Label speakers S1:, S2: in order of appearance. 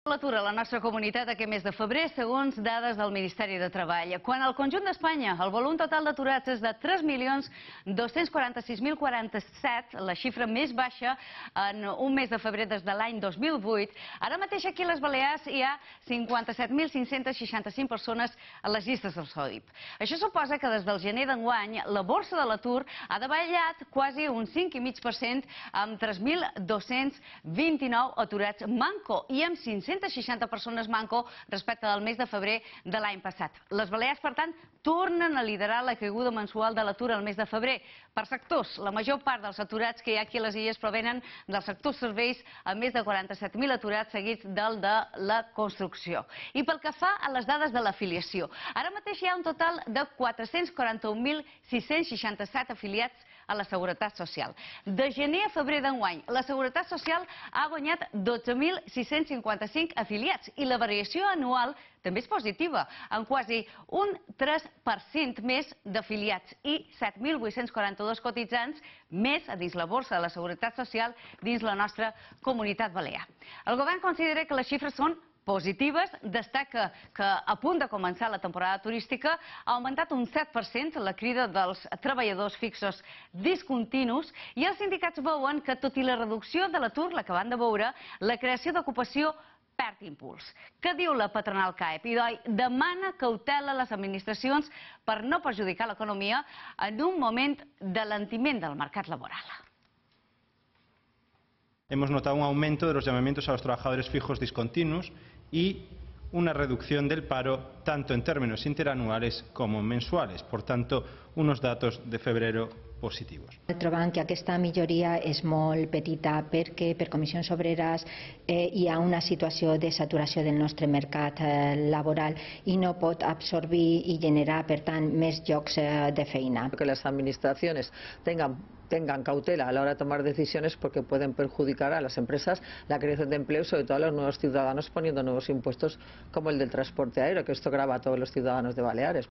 S1: L'atur a la nostra comunitat aquest mes de febrer, segons dades del Ministeri de Treball. Quan al conjunt d'Espanya el volum total d'aturats és de 3.246.047, la xifra més baixa en un mes de febrer des de l'any 2008, ara mateix aquí a les Balears hi ha 57.565 persones a les llistes del SOIP. Això suposa que des del gener d'enguany la borsa de l'atur ha davallat quasi un 5,5% amb 3.229 aturats manco i amb 560 persones manco respecte del mes de febrer de l'any passat. Les Balears, per tant, tornen a liderar la caiguda mensual de l'atur al mes de febrer. Per sectors, la major part dels aturats que hi ha aquí a les illes provenen del sector serveis, amb més de 47.000 aturats seguits del de la construcció. I pel que fa a les dades de l'afiliació, ara mateix hi ha un total de 441.667 afiliats a la Seguretat Social. De gener a febrer d'enguany, la Seguretat Social ha guanyat 12.655 afiliats i la variació anual també és positiva, amb quasi un 3% més d'afiliats i 7.842 cotitzants més a dins la borsa de la Seguretat Social dins la nostra comunitat balear. El govern considera que les xifres són positives, destaca que a punt de començar la temporada turística ha augmentat un 7% la crida dels treballadors fixos discontinus i els sindicats veuen que, tot i la reducció de l'atur, la que van de veure, la creació d'ocupació perd impuls. Què diu la patronal CAEP? I demana cautela a les administracions per no perjudicar l'economia en un moment d'alentiment del mercat laboral.
S2: Hemos notado un aumento de los llamamientos a los trabajadores fijos discontinuos y una reducción del paro tanto en términos interanuales como mensuales. Por tanto, unos datos de febrero positivos.
S3: Trobem que aquesta milloria és molt petita perquè per comissions obreres hi ha una situació de saturació del nostre mercat laboral i no pot absorbir i generar, per tant, més llocs de feina.
S4: Que las administraciones tengan cautela a la hora de tomar decisiones porque pueden perjudicar a las empresas, la creación de empleo y sobre todo a los nuevos ciudadanos poniendo nuevos impuestos como el del transporte aéreo, que esto grava a todos los ciudadanos de Baleares.